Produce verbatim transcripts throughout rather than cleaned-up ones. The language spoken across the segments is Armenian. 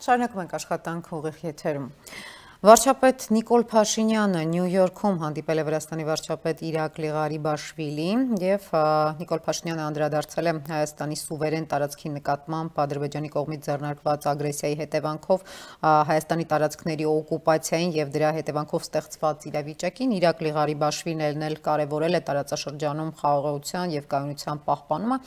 Շարունակում ենք աշխատանք ուղիղ եթերում։ Վարչապետ Նիկոլ Փաշինյանը Նյու Յորքում հանդիպել է Վրաստանի վարչապետ Իրակլի Ղարիբաշվիլիին և Նիկոլ Փաշինյանը անդրադարձել է Հայաստանի սուվերեն տարածքի նկատմամբ Ադրբեջանի կողմից ձեռնարկված ագրեսիայի հետևանքով Հայաստանի տարածքների օկուպացիային և դրա հետևանքով ստեղծված իրավիճակին։ Իրակլի Ղարիբաշվիլին էլ կարևորել է տարածաշրջանում խաղաղության և կայունության պահպանումը,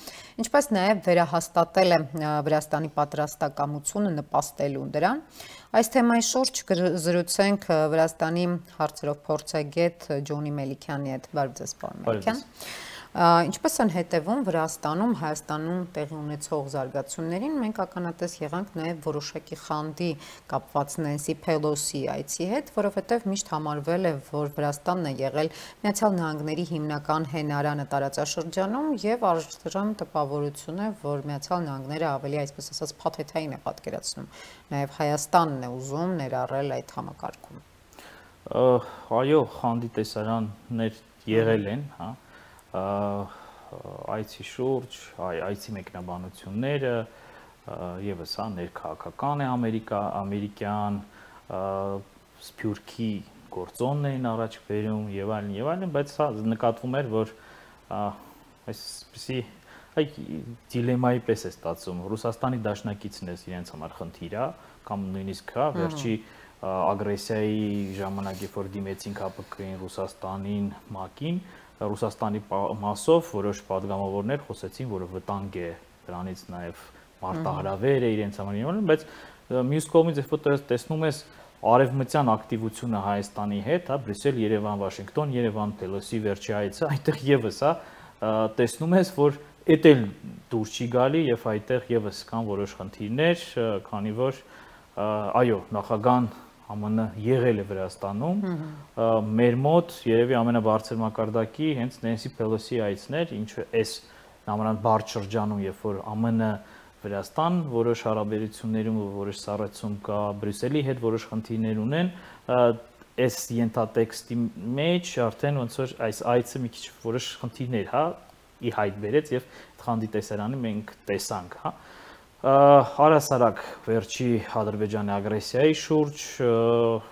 ինչպես նաև վերահաստատել է Վրաստանի պատրաստակամությունը նպաստելու դրան։ Այս թեմայի շուրջ զրուցենք Վրաստանի հարցերով փորձագետ Ջոնի Մելիքյանի հետ։ Բարև ձեզ, պարոն Մելիքյան։ Ինչպես են հետևում Վրաստանում, Հայաստանում տեղի ունեցող զարգացումներին, մենք ականատես եղանք նաև որոշակի խանդի կապված Նենսի Փելոսի այցի հետ, որովհետև միշտ համարվել է, որ Վրաստանն է եղել Միացյալ Նահանգների հիմնական հենարանը տարածաշրջանում և առայժմ տպավորություն է, որ Միացյալ Նահանգները ավելի, այսպես ասած, փաթեթային է պատկերացնում, նաև Հայաստանն է ուզում ներառել այդ համակարգում։ Այո, խանդի տեսարաններ եղել են, հա, այցի շուրջ, այցի մեկնաբանությունները եւս հա ներքաղաքական է ամերիկյան, Սփյուռքի գործոնն էին առաջ բերում եւ այլն եւ այլն, բայց հա նկատվում էր, որ այսպիսի այ դիլեմայի պես է ստացվում, Ռուսաստանի դաշնակիցն է իրենց համար խնդիր է, կամ նույնիսկ հա վերջի ագրեսիայի ժամանակ, երբ որ դիմեցին ՀԱՊԿ-ին, Ռուսաստանին, ՄԱԿ-ին, Ռուսաստանի մասով որոշ падգամավորներ խոսեցին, որ վտանգ է դրանից նաև մարտահրավեր է իրենց համար, բայց մյուս կողմից երբ որ տեսնում ես արևմտյան ակտիվությունը Հայաստանի հետ, հա, Բրյուսել, Երևան, Վաշինգտոն, Երևան, Փելոսի վերջի այցը, այդտեղ եւս հա տեսնում ես, որ էդ էլ դուր չի գալի եւ այդտեղ եւս կան որոշ խնդիրներ, քանի որ այո, նախագահան ԱՄՆ եղել է Վրաստանում, մեր մոտ երևի ամենաբարձր մակարդակի հենց Նենսի Փելոսի այցներ, ինչը այս նամանան բարդ շրջանում, երբ որ ԱՄՆ Վրաստան որոշ հարաբերություններում որոշ սառեցում կա, Բրյուսելի հետ որոշ խնդիրներ ունեն, այս ենթատեքստի մեջ արդեն ոնց որ այս այցը մի քիչ որոշ խնդիրներ, հա, ի հայտ բերեց եւ խանդի տեսարանը մենք տեսանք, հա։ Առհասարակ վերջի Ադրբեջանի ագրեսիայի շուրջ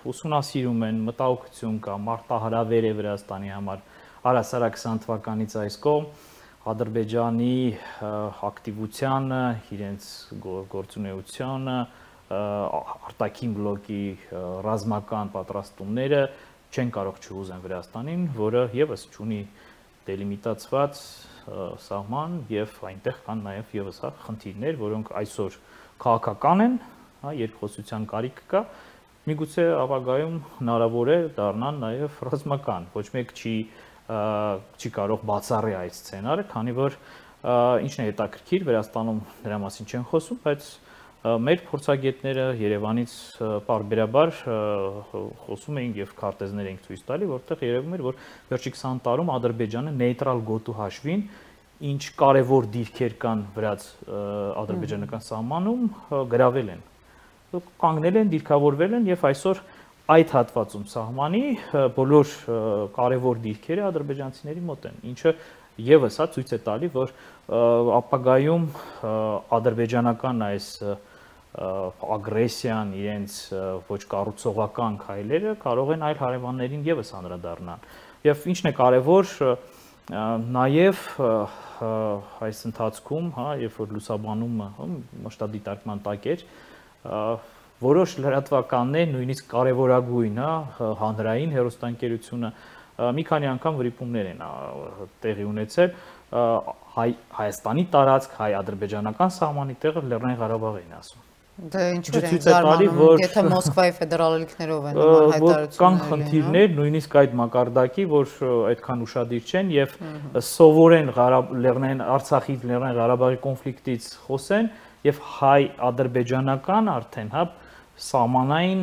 ուսումնասիրում են, մտահոգություն կա, մարտահրավեր է Վրաստանի համար, առհասարակ քսան թվականից այս կողմ Ադրբեջանի ակտիվությանը, իրենց գործունեությանը, արտաքին բլոկի ռազմական պատրաստումները չեն կարող չհուզեն Վրաստանին, որը եւս ունի դելիմիտացված սահման եւ այնտեղ կան նաեւ եւս հա խնդիրներ, որոնք այսօր քաղաքական են, հա, երկխոսության կարիք կա, միգուցե ապագայում հնարավոր է դառնան նաեւ ռազմական, ոչ մեկ չի չի կարող բացառի այդ սցենարը, քանի որ ինչն է հետաքրքիր, Վրաստանում դրա մասին չեն խոսում, բայց մեր փորձագետները Երևանից պարբերաբար խոսում էին եւ քարտեզներ ենք ցույց տալի, որտեղ երևում էր, որ վերջի քսան տարում Ադրբեջանը նեյտրալ գոտու հաշվին ինչ կարևոր դիրքեր կան վրաց ադրբեջանական սահմանում գրավել են, կանգնել են, դիրքավորվել են եւ այսօր այդ հատվածում սահմանի բոլոր կարևոր դիրքերը ադրբեջանցիների մոտ են, ինչը եւս հա ցույց է տալի, որ ապագայում ադրբեջանական այս ագրեսիան, իրենց ոչ կառուցողական քայլերը կարող են այլ հարևաններին եւս անդրադառնալ։ Եվ ինչն է կարևոր, նաեւ այս ընթացքում, հա, երբ որ լուսաբանումը մասշտաբդիտարկման տակ էր, որոշ լրատվականներ, նույնիսկ կարևորագույն, հա, հանրային հեռուստաընկերությունը մի քանի անգամ վրիպումներ են տեղի ունեցել Հայաստանի տարածք, հայ-ադրբեջանական սահմանի տեղը Լեռնային Ղարաբաղ էին ասում։ Դե ինչու՞ են զարմանում, եթե Մոսկվայի ֆեդերալ ելիքներով են նման հայտարարություններ։ Կան խնդիրներ, նույնիսկ այդ մակարդակի, որ այդքան ուշադիր չեն եւ սովորեն Լեռնային Արցախի, Լեռնային Ղարաբաղի կոնֆլիկտից խոսեն եւ հայ-ադրբեջանական արդեն, հա, սահմանային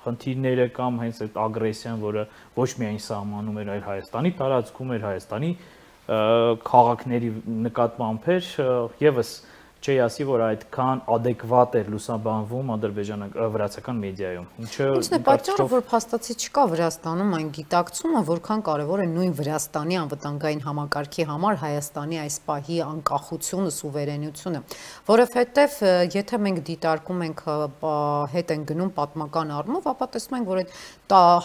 խնդիրները կամ հենց այդ ագրեսիան, որը ոչ միայն սահմանում էր, այլ Հայաստանի տարածքում էր, Հայաստանի քաղաքների նկատմամբ էր, եւս չի ասի, որ այդքան adekvat էր լուսաբանվում ադրբեջանական մեդիայում։ Ինչը Ինչն է պատճառը, որ փաստացի չկա Վրաստանում այն գիտակցումը, որքան կարևոր է նույն Վրաստանի անվտանգային համակարգի համար Հայաստանի այս պահի անկախությունը, սուվերենությունը, որովհետև եթե մենք դիտարկում ենք հետ են գնում պատմական առումով, ապա տեսնում ենք, որ այդ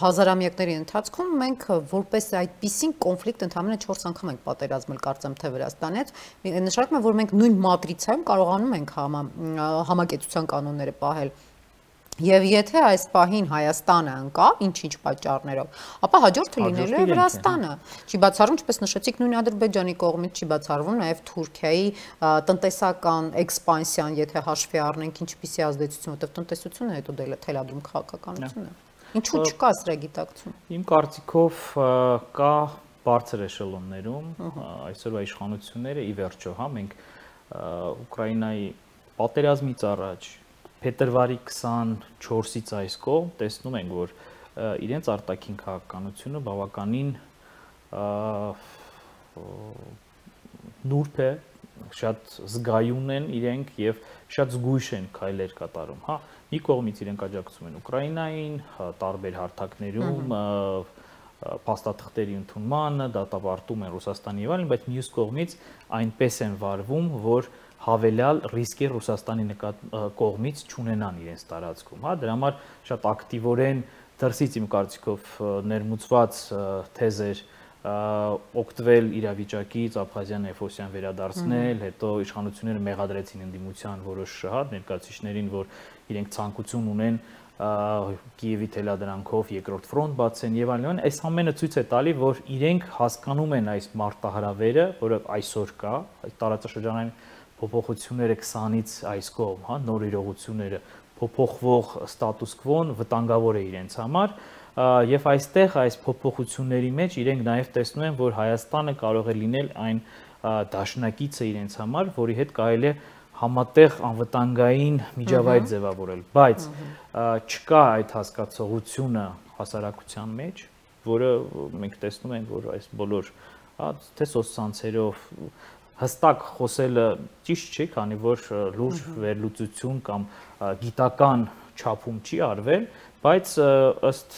հազարամյակների ընթացքում մենք որպես այդպիսին կոնֆլիկտ ընդհանրապես չորս անգամ ենք պատերազմել, կարծեմ թե Վրաստանի հետ, նշանակում է, որ մենք նույն մատրիցայում կարողանում ենք համակեցության կանոնները պահել։ Եվ եթե այս պահին Հայաստանը ընկա, ինչ-ինչ պատճառներով, ապա հաջորդը լինելու է Վրաստանը։ Չի բացառվում, ինչպես նշեցիք, նույն Ադրբեջանի կողմից չի բացառվում նաև Թուրքիայի տնտեսական էքսպանսիան, եթե հաշվի առնենք ինչպիսի ազդեցություն, որտեղ տնտեսությունը հետո դե թելադրում քաղաքականություն է։ Ինչու չկա սրա գիտակցում։ Իմ կարծիքով կա բարձր էշելոններում այսօրվա իշխանությունները ի վերջո, հա, մենք Ուկրաինայի պատերազմից առաջ փետրվարի քսանչորսից այս կողմ տեսնում ենք, որ իրենց արտաքին քաղաքականությունը բավականին նուրբ է, շատ զգայուն են իրենք եւ շատ զգույշ են քայլեր կատարում, հա, մի կողմից իրենք աջակցում են Ուկրաինային, տարբեր հարթակներում փաստաթղթերի ընդունմանը, դատապարտում են Ռուսաստանի եւ այլն, բայց մյուս կողմից այնպես են վարվում, որ հավելյալ ռիսկ է Ռուսաստանի կողմից չունենան իրենց տարածքում, հա, դրա համար շատ ակտիվորեն դրսից իմ կարծիքով ներմուծված թեզեր օգտվել իրավիճակից, Աբխազիան, Էֆոսիան վերադարձնել, հետո իշխանությունները մեղադրեցին ընդդիմության որոշ հա ներկայացուցիչներին, որ իրենք ցանկություն ունեն Կիևի թելադրանքով երկրորդ ֆրոնտ բացեն եւ այլն, այս ամենը ցույց է տալի, որ իրենք հասկանում են այս մարտահրավերը, որը այսօր կա, այս տարածաշրջանային փոփոխությունները քսանից այս կողմ, հա, նոր իրողությունները, փոփոխվող ստատուս քվոն վտանգավոր է իրենց համար, եւ այստեղ այս փոփոխությունների մեջ իրենք նաեւ տեսնում են, որ Հայաստանը կարող է լինել այն դաշնակիցը իրենց համար, որի հետ կարելի է համատեղ անվտանգային միջավայր ձևավորել, բայց չկա այդ հասկացողությունը հասարակության մեջ, որը մենք տեսնում ենք, որ այս բոլոր, հա, թե սոցցանցերով հստակ խոսելը ճիշտ չի, քանի որ լուրջ վերլուծություն կամ գիտական չափում չի արվել, բայց ըստ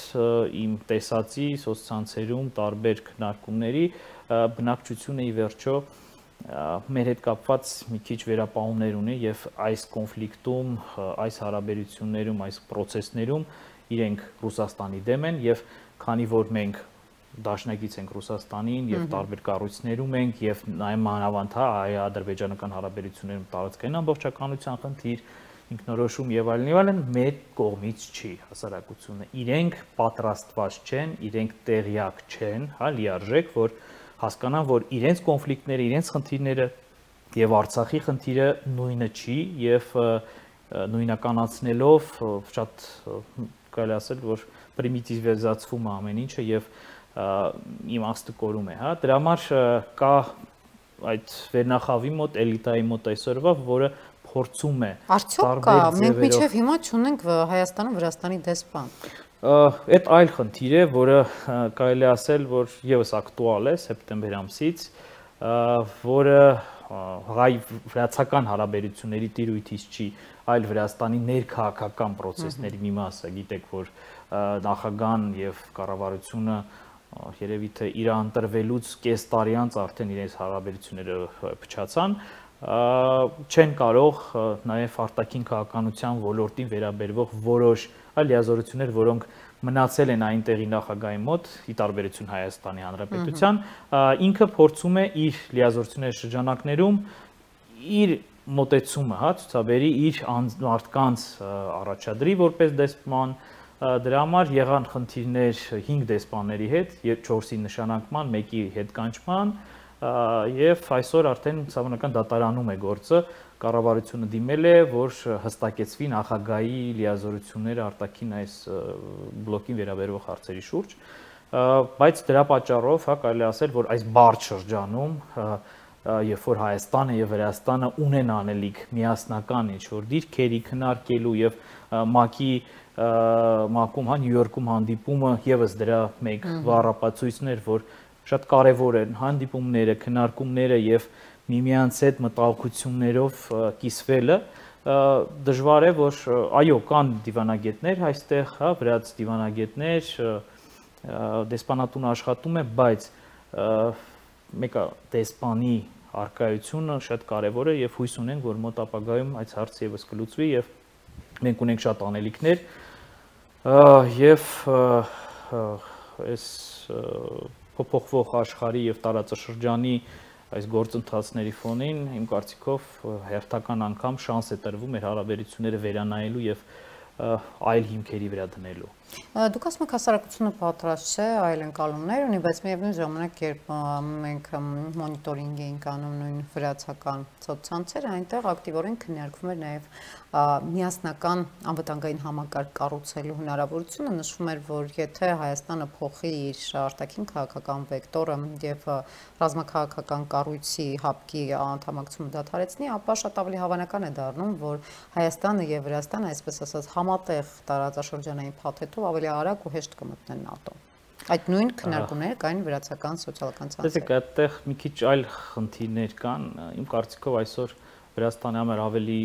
իմ տեսածի սոցցանցերում տարբեր քննարկումների բնակչությունը ի վերջո մեր հետ կապված մի քիչ վերապահումներ ունի եւ այս կոնֆլիկտում, այս հարաբերություններում, այս process-ներում իրենք Ռուսաստանի դեմ են եւ քանի որ մենք դաշնակից ենք Ռուսաստանին եւ տարբեր կառույցներում ենք եւ նաեւ մանավանդ հա հայ-ադրբեջանական հարաբերություններում տարածքային ամբողջականության խնդիր, ինքնորոշում եւ այլն եւ այլն մեր կողմից չի հասարակությունը։ Իրենք պատրաստված չեն, իրենք տեղյակ չեն, հա լիարժեք, որ հասկանան, որ իրենց կոնֆլիկտները, իրենց խնդիրները եւ Արցախի խնդիրը նույնը չի եւ նույնականացնելով շատ կարելի ասել, որ պրիմիտիվիզացվում է ամեն ինչը եւ իմաստը կորում է, հա, դրա համար կա այդ վերնախավի մոտ, էլիտայի մոտ այսօրվա, որը փորձում է արդյոք կա, մենք մինչև հիմա չունենք Հայաստանում Վրաստանի դեսպան։ Այդ այլ խնդիր է, որը կարելի ասել, որ եւս ակտուալ է սեպտեմբեր ամսից, որը հայ-վրացական հարաբերությունների տիրույթից չի, այլ Վրաստանի ներքաղաքական process-ների մի մասը, գիտեք, որ նախագահան եւ կառավարությունը երևի թե իր ընտրվելուց կես տարի անց արդեն իրենց հարաբերությունները փչացան, չեն կարող նաև արտաքին քաղաքականության ոլորտին վերաբերվող որոշ այլ լիազորություններ, որոնք մնացել են այնտեղի նախագահի մոտ, ի տարբերություն Հայաստանի Հանրապետության, ինքը փորձում է իր լիազորությունների շրջանակներում իր մոտեցումը, հա, ցուցաբերի իր մարդկանց առաջադրի որպես դեսպան, դրա համար եղան խնդիրներ հինգ դեսպանների հետ, չորսի նշանակման, մեկի հետ կանչման, եւ այսօր արդեն ցավանական դատարանում է գործը, կառավարությունը դիմել է, որ հստակեցվի նախագահի լիազորությունները արտաքին այս բլոկին վերաբերող հարցերի շուրջ, բայց դրա պատճառով, հա, կարելի ասել, որ այս բարդ շրջանում, երբ որ Հայաստանը եւ Վրաստանը ունեն անելիք միասնական ինչ-որ դիրքերի քննարկելու եւ ՄԱԿ-ի ՄԱԿ-ում, հա, Նյու Յորքում հանդիպումը եւս դրա մեկ վառապացույցն էր, որ շատ կարևոր են հանդիպումները, քննարկումները եւ միմյանց հետ մտահոգություններով կիսվելը դժվար է, որ այո, կան դիվանագետներ այստեղ, հա, վրաց դիվանագետներ, դեսպանատունը աշխատում է, բայց մեկը դեսպանի առկայությունը շատ կարևոր է եւ հույս ունենք, որ մոտ ապագայում այս հարցը եւս կլուծվի եւ մենք ունենք շատ անելիքներ եւ այս փոփոխվող աշխարհի եւ տարածաշրջանի այս գործընթացների ֆոնին իմ կարծիքով հերթական անգամ շանս է տրվում մեր հարաբերությունները վերանայելու եւ այլ հիմքերի վրա դնելու։ Դուք ասում եք հասարակությունը պատրաստ չէ այլ ընկալումներ ունի, բայց միևնույն ժամանակ երբ մենք մոնիտորինգ էինք անում նույն վրացական սոցցանցերը, այնտեղ ակտիվորեն քննարկվում էր նաև միասնական անվտանգային համակարգ կառուցելու հնարավորությունը, նշվում էր, որ եթե Հայաստանը փոխի իր արտաքին քաղաքական վեկտորը եւ ռազմաքաղաքական կառույցի հապկի անդամակցությունը դադարեցնի, ապա շատ ավելի հավանական է դառնում, որ Հայաստանը եւ Վրաստանը, այսպես ասած, համատեղ տարածաշրջանային փաթեթով ավելի արագ ու հեշտ կմտնեն ՆԱՏՕ։ Այդ նույն քննարկումները կային վրացական սոցիալական ցանցերում։ Տեսեք, այդտեղ մի քիչ այլ խնդիրներ կան, իմ կարծիքով այսօր Վրաստանի համար ավելի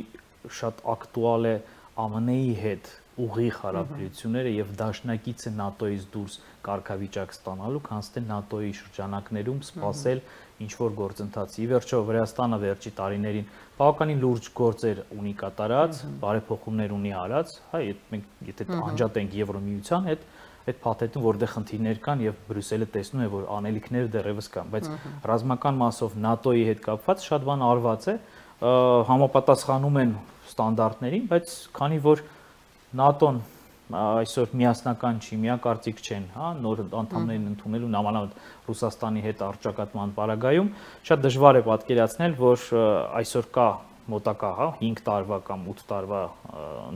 շատ ակտուալ է ԱՄՆ-ի հետ ուղիղ հարաբերությունները եւ դաշնակից է ՆԱՏՕ-ից դուրս կարգավիճակ ստանալու, քան թե ՆԱՏՕ-ի շրջանակներում սպասել ինչ որ գործընթացի։ Ի վերջո Վրաստանը վերջի տարիներին բավականին լուրջ գործեր ունի կատարած, բարեփոխումներ ունի արած, հա, մենք եթե անջատ ենք Եվրոմիության հետ, այդ փաթեթում որտեղ խնդիրներ կան եւ Բրյուսելը տեսնում է, որ անելիքները դեռևս կան, բայց ռազմական մասով ՆԱՏՕ-ի հետ կապված շատ բան արված է, համապատասխանում են ստանդարտներին, բայց քանի որ ՆԱՏՕ-ն այսօր միասնական չի, միակարծիք չեն, հա, նոր անդամներին ընդունելու նամանավանդ Ռուսաստանի հետ առճակատման պարագայում, շատ դժվար է պատկերացնել, որ այսօր կա մոտակա, հա, հինգ տարվա կամ ութ տարվա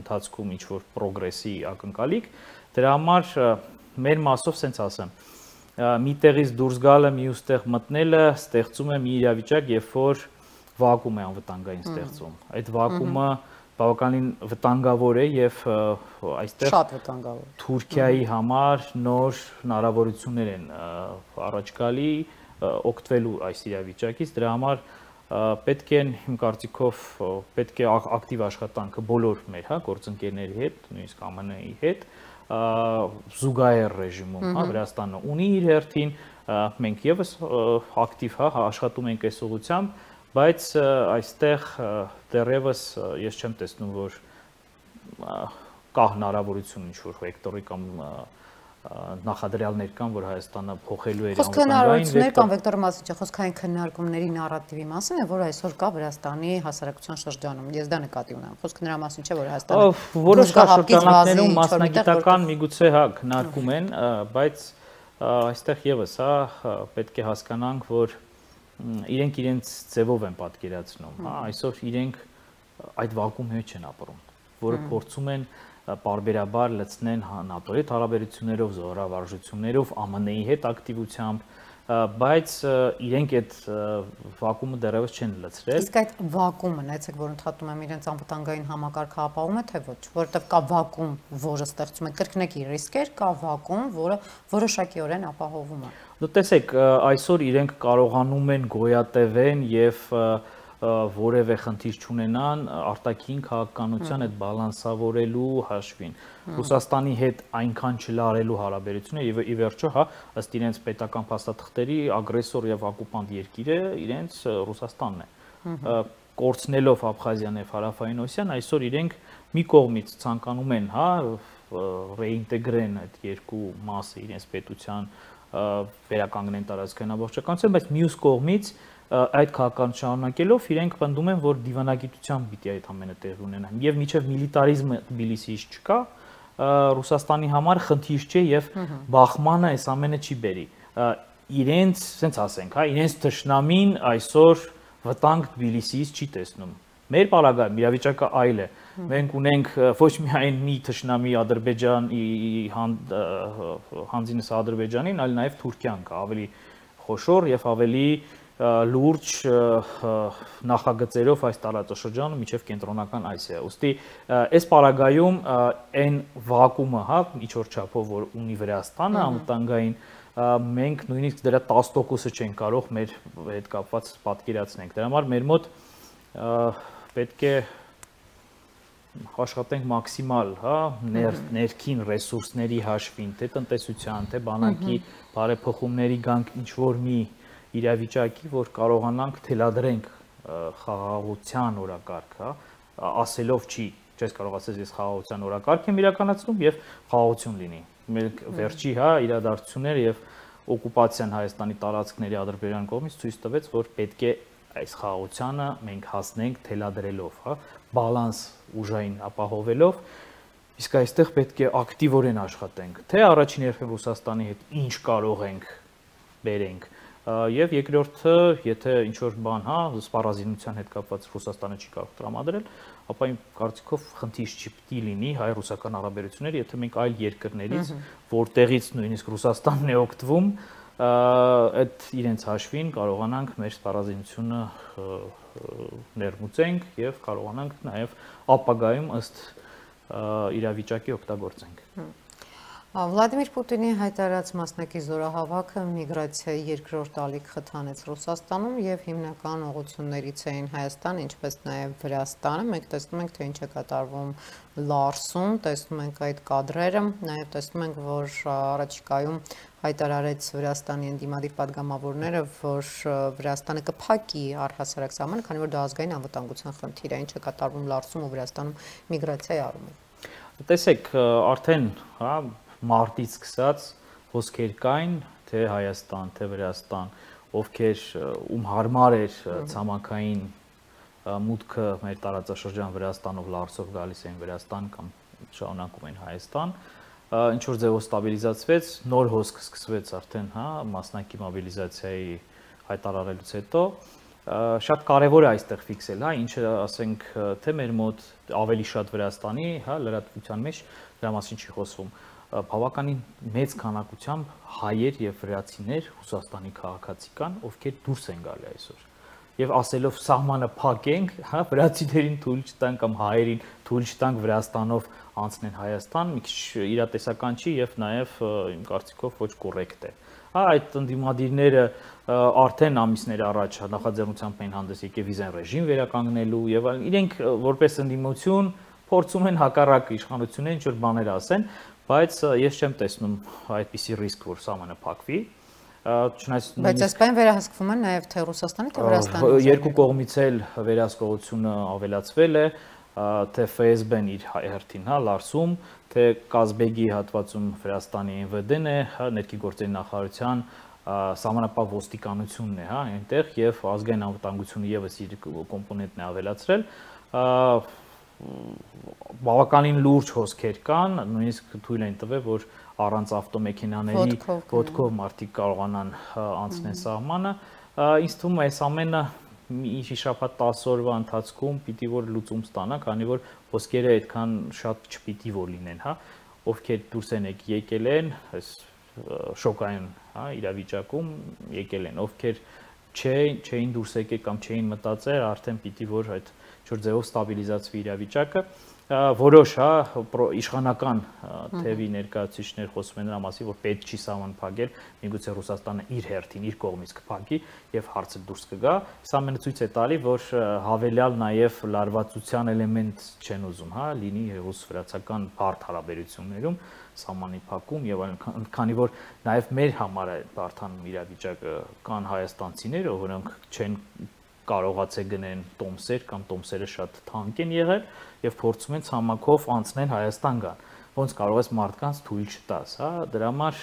ընթացքում ինչ որ պրոգրեսի ակնկալիք, դրա համար մեր մասով սենց ասեմ, մի տեղից դուրս գալը, մյուս տեղ մտնելը ստեղծում է մի իրավիճակ, երբ որ վակուում է անվտանգային ստեղծում։ Այդ վակումը բավականին վտանգավոր է եւ այստեղ շատ վտանգավոր Թուրքիայի համար նոր հնարավորություններ են առաջ գալի օգտվելու այս իրավիճակից, դրա համար պետք է իմ կարծիքով պետք է ակտիվ աշխատանքը բոլոր մեր, հա, գործընկերների հետ, նույնիսկ ԱՄՆ-ի հետ զուգահեռ ռեժիմում, հա, Վրաստանը ունի իր հերթին, մենք եւս ակտիվ, հա, աշխատում ենք այս ուղղությամբ, բայց այստեղ դեռևս ես չեմ տեսնում, որ կա հնարավորություն ինչ-որ վեկտորի կամ նախադրյալներ կան, որ Հայաստանը փոխելու է անվտանգային կամ վեկտորի մասին չէ, խոսքը այն քննարկումների նարատիվի մասին է, որ այսօր կա Վրաստանի հասարակության շրջանում։ Ես դա նկատի ունեմ։ Խոսքը նրա մասին չէ, որ Հայաստանը որոշ շրջանակներում մասնագիտական միգուցե հա քննարկում են, բայց այստեղ եւս հա պետք է հասկանանք, որ իրենք իրենց ձևով են պատկերացնում, հա, այսօր իրենք այդ վակուումի մեջ են ապրում, որը փորձում են պարբերաբար լցնեն ՆԱՏՕ-ի հետ հարաբերություններով, զորավարժություններով, ԱՄՆ-ի հետ ակտիվությամբ, բայց իրենք այդ վակուումը դեռևս չեն լցրել։ Իսկ այդ վակուումը, նայեցեք, որ ընդհատում եմ իրենց անվտանգային համակարգը ապահովում է, թե ոչ, որովհետև կա վակուում, որը ստեղծում է կրկնակի ռիսկեր, կա վակուում, որը որոշակիորեն ապահովում է։ Դու տեսեք, այսօր իրենք կարողանում են գոյատևեն եւ որևէ խնդիր չունենան արտաքին քաղաքականության այդ բալանսավորելու հաշվին։ Ռուսաստանի հետ այնքան չլարելու հարաբերությունը եւ ի վերջո, հա, ըստ իրենց պետական փաստաթղթերի ագրեսոր եւ օկուպանտ երկիրը իրենց Ռուսաստանն է։ Կորցնելով Աբխազիան եւ Հարավային Օսիան, այսօր իրենք մի կողմից ցանկանում են, հա, ռեինտեգրեն այդ երկու մասը իրենց պետության վերականգնեն տարածքային ամբողջականություն, բայց մյուս կողմից այդ քաղաքականություն շարունակելով իրենք պնդում են, որ դիվանագիտությամբ պիտի այդ ամենը տեղի ունենա։ Եվ միջև միլիտարիզմը Թբիլիսիից չկա, Ռուսաստանի համար խնդիր չէ եւ բախմանը այս ամենը չի բերի։ Իրենց, ասենց ասենք, հա, իրենց թշնամին այսօր վտանգ Թբիլիսիից չի տեսնում։ Մեր պարագայում իրավիճակը այլ է։ Մենք ունենք ոչ միայն մի թշնամի Ադրբեջանի հանձինս Ադրբեջանին, այլ նաեւ Թուրքիան կա, ավելի խոշոր եւ ավելի լուրջ նախագծերով այս տարածաշրջանը միջև կենտրոնական Ասիա։ Ոստի այս պարագայում այն վակուումը, հա, ինչ որ չափով որ ունի Վրաստանը անվտանգային մենք նույնիսկ դրա տասը տոկոսը չենք կարող մեր հետ կապված պատկերացնենք։ Դրա համար մեր մոտ պետք է աշխատենք մաքսիմալ, հա, ներքին ռեսուրսների հաշվին, թե տնտեսության, թե բանակի բարեփոխումների գանք ինչ որ մի իրավիճակի, որ կարողանանք թելադրենք խաղաղության օրակարգ, հա, ասելով չի, չես կարող ասես ես խաղաղության օրակարգ եմ իրականացնում եւ խաղաղություն լինի։ Մեր վերջի, հա, իրադարձությունները եւ օկուպացիան Հայաստանի տարածքների Ադրբեջան կողմից ցույց տվեց, որ պետք է այս խաղաղությանը մենք հասնենք թելադրելով, հա, բալանս ուժային ապահովելով, իսկ այստեղ պետք է ակտիվորեն աշխատենք, թե առաջին երբեք Ռուսաստանի հետ ինչ կարող ենք բերենք, եւ երկրորդը, եթե ինչ որ բան, հա, սպառազինության հետ կապված Ռուսաստանը չի կարող տրամադրել, ապա իմ կարծիքով խնդիր չպիտի լինի հայ-ռուսական հարաբերությունները, եթե մենք այլ երկրներից, որտեղից նույնիսկ Ռուսաստանն է օգտվում, այդ իրենց հաշվին կարողանանք մեր սպառազինությունը ներմուծենք եւ կարողանանք նաեւ ապագայում ըստ իրավիճակի օգտագործենք։ Վլադիմիր Պուտինի հայտարարած մասնակի զորահավաքը միգրացիայի երկրորդ ալիք խթանեց Ռուսաստանում եւ հիմնական ուղղություններից էին Հայաստան, ինչպես նաեւ Վրաստանը։ Մենք տեսնում ենք, թե ինչ է կատարվում Լարսում, տեսնում ենք այդ կադրերը, նաեւ տեսնում ենք, որ առաջիկայում հայտարարեց Վրաստանի ընդդիմադիր падգամավորները, որ Վրաստանը կփակի առհասարակ սահմանը, քանի որ դա ազգային անվտանգության խնդիր է, ինչ է կատարվում Լարսում ու Վրաստանում միգրացիայի առումով։ Տեսեք, արդեն, հա, մարտից սկսած հոսքեր կային, թե Հայաստան, թե Վրաստան, ովքեր ում հարմար էր ցամաքային մուտքը մեր տարածաշրջան Վրաստանով Լարսով գալիս էին Վրաստան կամ շարունակում են Հայաստան, ինչ որ ձևով ստաբիլիզացվեց, նոր հոսք սկսվեց արդեն, հա, մասնակի մոբիլիզացիայի հայտարարելուց հետո, շատ կարևոր է այստեղ ֆիքսել, հա, ինչը ասենք, թե մեր մոտ ավելի շատ Վրաստանի, հա, լրատվության մեջ դրա մասին չի խոսվում, բավականին մեծ քանակությամբ հայեր եւ վրացիներ Ռուսաստանի քաղաքացի կան, ովքեր դուրս են գալի այսօր։ Եվ ասելով սահմանը փակենք, հա, վրացիներին թույլ չտանք կամ հայերին թույլ չտանք Վրաստանով անցնեն Հայաստան, մի քիչ իրատեսական չի եւ նաեւ իմ կարծիքով ոչ կոռեկտ է։ Հա, այդ ընդդիմադիրները արդեն ամիսներ առաջ նախաձեռնությամբ են հանդես եկել վիզեն ռեժիմ վերականգնելու եւ այլն, իրենք որպես ընդդիմություն փորձում են հակառակ իշխանություններին ինչ որ բաներ ասեն, բայց ես չեմ տեսնում այդպիսի ռիսկ, որ սահմանը փակվի։ Բայց այս բանը վերահսկվում է նաև թե Ռուսաստանի, թե Վրաստանի։ Երկու կողմից էլ վերահսկողությունը ավելացվել է, թե Ֆ S B-ն իր հերթին, հա, Լարսում, թե Կազբեգի հատվածում Վրաստանի N V D-ն է, հա, ներքին գործերի նախարարության սահմանապահ ոստիկանությունն է, հա, այնտեղ եւ ազգային անվտանգությունը եւս իր կոմպոնենտն է ավելացրել։ Բավականին լուրջ հոսքեր կան, նույնիսկ թույլ են տվել, որ առանց ավտոմեքենաների ոտքով մարդիկ կարողանան անցնել սահմանը։ Ինձ թվում է այս ամենը մի շաբաթ տասը օրվա ընթացքում պիտի որ լուծում ստանա, քանի որ հոսքերը այդքան շատ չպիտի որ լինեն, հա, ովքեր դուրս են եկել են, այս շոկային, հա, իրավիճակում եկել են, ովքեր չէին դուրս եկել կամ չէին մտածել, արդեն պիտի որ այդ ինչ-որ ձևով ստաբիլիզացվի իրավիճակը, որոշ, հա, իշխանական թևի ներկայացուցիչներ խոսում են նրա մասին, որ պետք չի սահման փակել, միգուցե Ռուսաստանը իր հերթին, իր կողմից կփակի եւ հարցը դուրս կգա։ Սա ամենը ցույց է տալի, որ հավելյալ նաեւ լարվածության էլեմենտ չեն ուզում, հա, լինի ռուս-վրացական բարդ հարաբերություններում սահմանի փակում եւ այլն, քանի որ նաեւ մեր համար է բարդանում իրավիճակը, կան հայաստանցիներ, որոնք չեն կարողացել գնեն տոմսեր կամ տոմսերը շատ թանկ են եղել եւ փորձում են ցամաքով անցնել Հայաստան գան։ Ոնց կարող ես մարդկանց թույլ չտաս, հա, դրա համար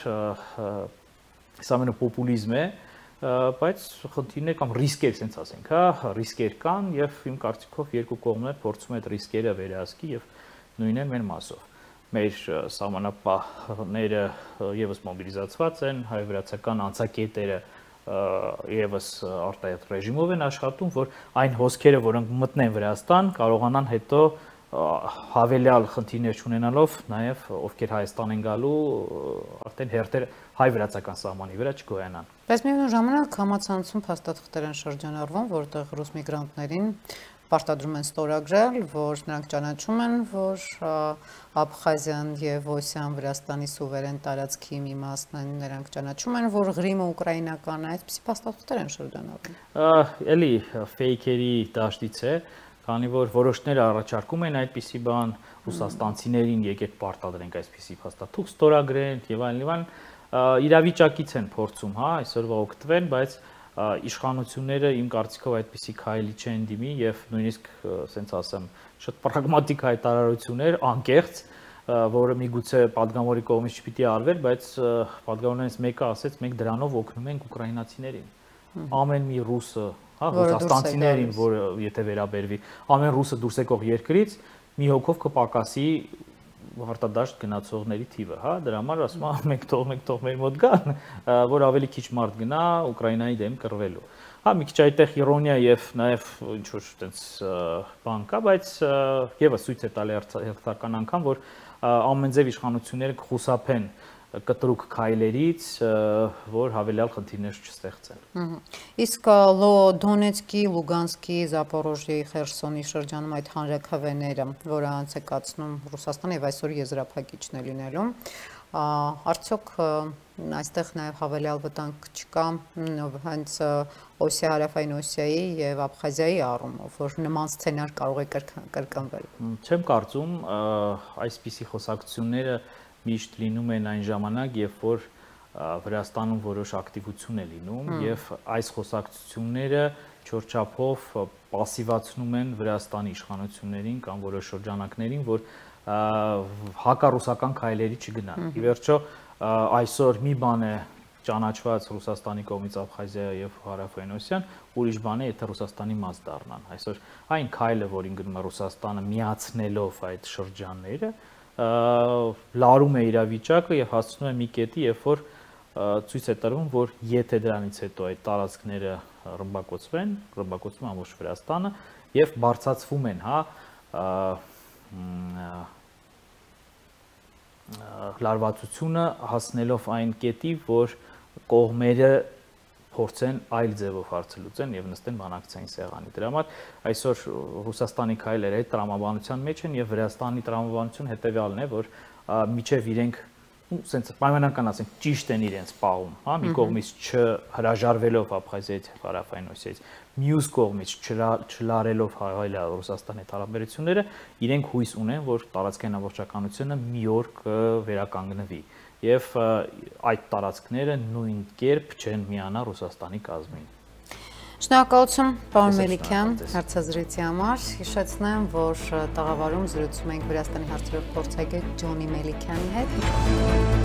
սա ամենը պոպուլիզմ է, բայց խնդիրներ կամ ռիսկեր, ասենք ասենք, հա, ռիսկեր կան եւ իմ կարծիքով երկու կողմներ փորձում են այդ ռիսկերը վերահսկի եւ նույնն մեր մասով։ Մեր սահմանապահները եւս մոբիլիզացված են, հայ-վրացական անցակետերը եւս արտահայտ ռեժիմով են աշխատում, որ այն հոսքերը, որոնք մտնեն Վրաստան, կարողանան հետո հավելյալ խնդիրներ չունենալով նաեւ ովքեր Հայաստան են գալու, արդեն հերթեր հայ-վրացական սահմանի վրա չգոյանան։ Բայց միևնույն ժամանակ համացանցում փաստաթղթեր են շրջանառվում, որտեղ ռուս միգրանտներին պարտադրում են ստորագրել, որ նրանք ճանաչում են, որ Աբխազիան եւ Օսիան Վրաստանի սուվերեն տարածքի մի մասն են, նրանք ճանաչում են, որ Ղրիմը ուկրաինական է, այսպիսի փաստաթղթեր են շրջանառվում։ Էլի ֆեյքերի դաշտից է, քանի որ որոշները առաջարկում են այդպիսի բան, ռուսաստանցիներին եկեք պարտադրենք այսպիսի փաստաթուղթ ստորագրեն եւ այլն եւ այլն, իրավիճակից են փորձում, հա, այսօրվա օգտվել, բայց իշխանությունները իմ կարծիքով այդպիսի քայլի չեն դիմի եւ նույնիսկ ասենց ասեմ շատ պրագմատիկ հայտարարություններ անկեղծ, որը միգուցե падգամորի կողմից չպիտի արվեր, բայց падգամորներից մեկը ասեց մենք դրանով օգնում ենք ուկրաինացիներին։ Ամեն մի ռուսը, հա, ռուսաստանցիներին, որը եթե վերաբերվի, ամեն ռուսը դուրս եկող երկրից մի հոգով կպակասի հարտադաշտ գնացողների թիվը, հա, դրա համար ասում եմ մենք թող մենք թող մեր մոտ գան, որ ավելի քիչ մարդ գնա Ուկրաինայի դեմ կռվելու։ Հա, մի քիչ այդտեղ իրոնիա եւ նաեւ ինչ որ այտենց բան կա, բայց եւս ցույց է տալի հերթական անգամ, որ ամենձև իշխանությունները կխուսափեն կտրուկ քայլերից, որ հավելյալ խնդիրներ չստեղծեն։ Իսկ Դոնեցկի, Լուգանսկի, Զապորոժիեի, Խերսոնի շրջանում այդ հանրաքվեները, որը անց է կացնում Ռուսաստանը եւ այսօր եզրափակիչն է լինելու, արդյոք այստեղ նաեւ հավելյալ վտանգ չկա հենց Օսիա, Հարավային Օսիայի եւ Աբխազիայի առումով, որ նման սցենար կարող է կրկնվել։ Չեմ կարծում, այսպիսի խոսակցությունները միշտ լինում են այն ժամանակ, երբ որ Վրաստանում որոշ ակտիվություն է լինում եւ այս խոսակցությունները չորչափով պասիվացնում են Վրաստանի իշխանություններին կամ որոշ շրջանակներին, որ հակառուսական քայլերի չգնան։ Ի վերջո այսօր մի բան է ճանաչված Ռուսաստանի կողմից Աբխազիա եւ Հարավային Օսիան, ուրիշ բան է, եթե Ռուսաստանի մաս դառնան։ Այսօր այն քայլը, որին գնում է Ռուսաստանը միացնելով այդ շրջանները, լարում է իրավիճակը եւ հասցնում է մի կետի, երբ որ ցույց է տրվում, որ եթե դրանից հետո այդ տարածքները ռմբակոծվեն, ռմբակոծվում է ամբողջ Վրաստանը եւ բարձրացվում են, հա, լարվածությունը հասնելով այն կետի, որ կողմերը փորձեն այլ ձևով հարցը լուծեն եւ նստեն բանակցային սեղանի։ Դրա համար այսօր Ռուսաստանի քայլերը այդ տրամաբանության մեջ են եւ Վրաստանի տրամաբանությունը հետեւյալն է, որ միջև իրենք սենց պայմանական ասենք ճիշտ են իրենց պահում, հա, մի կողմից չհրաժարվելով Աբխազիայից, Հարավային Օսիայից, մյուս կողմից չլարելով հայել Ռուսաստանի հարաբերությունները, իրենք հույս ունեն, որ տարածքային ամբողջականությունը մի օր կվերականգնվի եւ այդ տարածքները նույն կերպ չեն միանա Ռուսաստանի կազմին։ Շնորհակալություն, պարոն Մելիքյան, հարցազրույցի համար։ Հիշեցնեմ, որ տաղավարում զրուցում ենք Վրաստանի հարցերով փորձագետ Ջոնի Մելիքյանի հետ։